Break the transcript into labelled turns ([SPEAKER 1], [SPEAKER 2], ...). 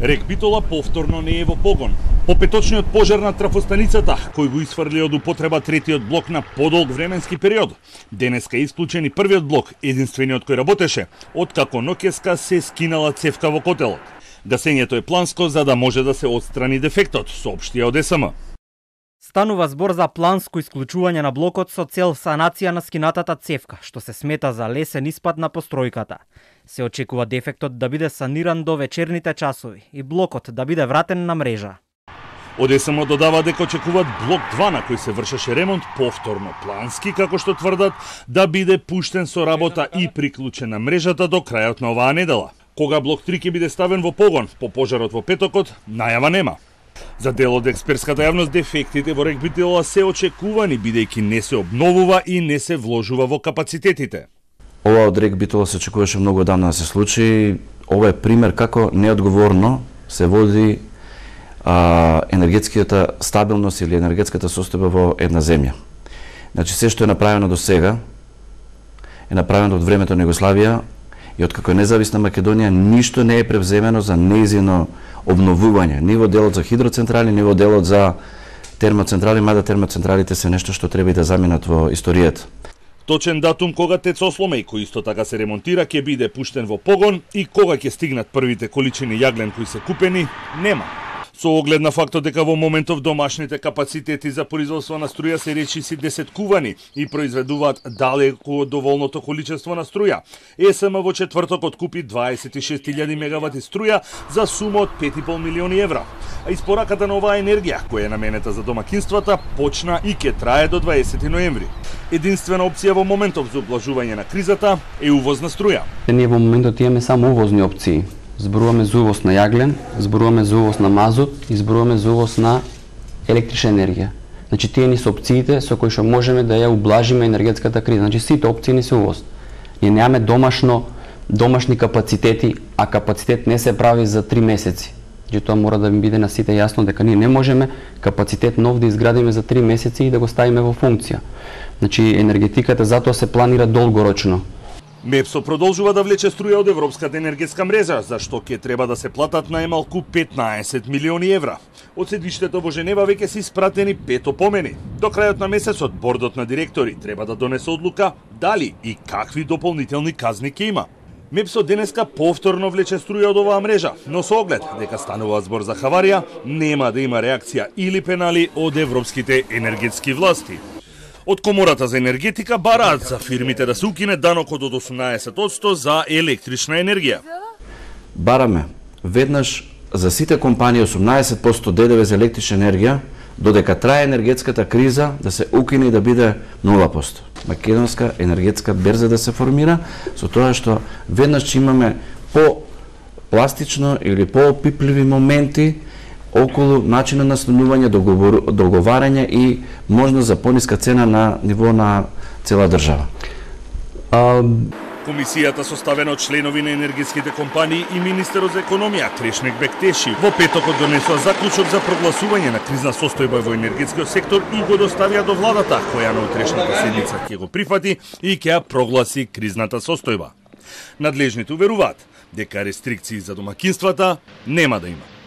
[SPEAKER 1] Рек Битола повторно не е во погон. По петочниот пожар на трафостаницата, кој го исфрли од употреба третиот блок на подолг временски период, денеска е исклучен и првиот блок, единствениот кој работеше, откако ноќеска се скинала цевка во котелот. Гасењето е планско за да може да се отстрани дефектот, соопштија од СМ.
[SPEAKER 2] Станува збор за планско исклучување на блокот со цел санација на скинатата цевка, што се смета за лесен испад на постројката. Се очекува дефектот да биде саниран до вечерните часови и блокот да биде вратен на мрежа.
[SPEAKER 1] Од СМ додава дека очекуваат блок 2 на кој се вршеше ремонт повторно плански, како што тврдат, да биде пуштен со работа и приклучен на мрежата до крајот на оваа недела. Кога блок 3 ќе биде ставен во погон по пожарот во петокот, најава нема. За дел од експертската јавност, дефектите во Рек Битола се очекувани, бидејќи не се обновува и не се вложува во капацитетите.
[SPEAKER 3] Ова од Рек Битола се очекуваше многу одамна да се случи. Ова е пример како неодговорно се води енергетската стабилност или енергетската состојба во една земја. Значи, се што е направено до сега, е направено од времето на Југославија и откако е независна Македонија, ништо не е превземено за нејзино обновување. Ни во делот за хидроцентрали, ни во делот за термоцентрали, мада термоцентралите се нешто што треба и да заминат во историјата.
[SPEAKER 1] Точен датум кога ТЕЦ Осломеј, кој исто така се ремонтира, ќе биде пуштен во погон и кога ќе стигнат првите количини јаглен кои се купени, нема. Со оглед на фактот дека во моментов домашните капацитети за производство на струја се речиси десеткувани и произведуваат далеку од доволното количество на струја, СМ во четврток откупи 26.000 мегавати струја за сума од 5,5 милиони евра. А испораката на оваа енергија, која е наменета за домакинствата, почна и ќе трае до 20 ноември. Единствена опција во моментов за облажување на кризата е увоз на струја.
[SPEAKER 4] Ние во моментот имаме само увозни опции. Зборуваме за увоз на јаглен, зборуваме за увоз на мазут и зборуваме за увоз на електрична енергија. Значи тие ни се опциите со кои што можеме да ја ублажиме енергетската криза. Значи сите опции ни се увоз. Ние немаме домашни капацитети, а капацитет не се прави за 3 месеци. Значи тоа мора да ми биде на сите јасно дека ние не можеме капацитет нов да изградиме за 3 месеци и да го ставиме во функција. Значи енергетиката затоа се планира долгорочно.
[SPEAKER 1] МЕПСО продолжува да влече струја од Европската енергетска мрежа, за што ќе треба да се платат најмалку 15 милиони евра. Од седиште во Женева веќе се испратени 5 опомени. До крајот на месецот бордот на директори треба да донесе одлука дали и какви дополнителни казни ќе има. МЕПСО денеска повторно влече струја од оваа мрежа, но со оглед дека станува збор за хаварија, нема да има реакција или пенали од европските енергетски власти. Од Комората за енергетика бараат за фирмите да се укине данокот од 18% за електрична енергија.
[SPEAKER 3] Бараме веднаш за сите компании 18% ДДВ за електрична енергија, додека трае енергетската криза, да се укине и да биде 0%. Македонска енергетска берза да се формира, со тоа што веднаш ќе имаме по-пластично или по-опипливи моменти околу начина на станување, договарање и можност за пониска цена на ниво на цела држава.
[SPEAKER 1] Комисијата составена од членови на енергетските компании и министерот за економија Крешнек Бектеши во петокот донесува заклучок за прогласување на кризна состојба во енергетскиот сектор и го доставија до владата, која на утрешната седница ќе го прифати и ќе ја прогласи кризната состојба. Надлежните уверуваат дека рестрикции за домакинствата нема да има.